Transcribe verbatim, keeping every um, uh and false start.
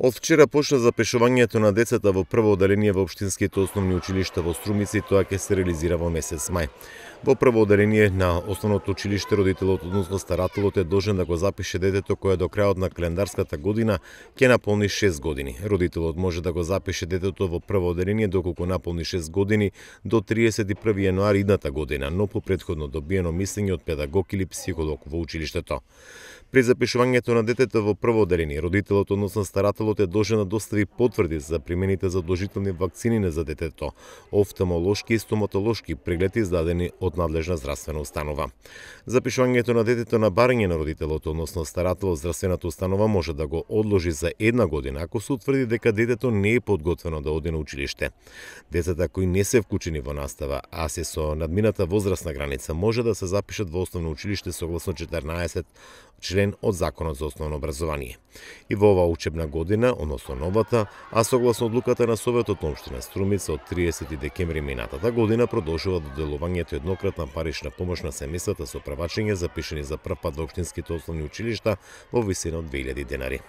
Од вчера почна запишувањето на децата во прво оделение во општинските основни училишта во Струмица и тоа ќе се реализира во месец мај. Во прво оделение на основното училиште родителот, односно старателот, е должен да го запише детето кое до крајот на календарската година ќе наполни шест години. Родителот може да го запише детето во прво оделение доколку наполни шест години до триесет и први јануари идната година, но по претходно добиено мислење од педагог или психолог во училиштето. При запишувањето на детето во прво оделение, родителот, односно старателот, е должен да достави потврди за примените задолжителни вакцини за детето, офталмолошки и стоматолошки прегледи издадени од надлежна здравствена установа. Запишувањето на детето на барање на родителот, односно старателот, здравствената установа може да го одложи за една година ако се утврди дека детето не е подготвено да оди на училиште. Децата кои не се вклучени во настава, а се со надмината возрастна граница, може да се запишат во основно училиште согласно четрнаесет член од Законот за основно образование. И во оваа учебна година, односно новата, а согласно одлуката на Советот на општина Струмица од триесети декември минатата година, продолжува доделувањето еднократна парична помош на семејствата со правачење запишени за прв пат во општинските основни училишта во висина од две илјади денари.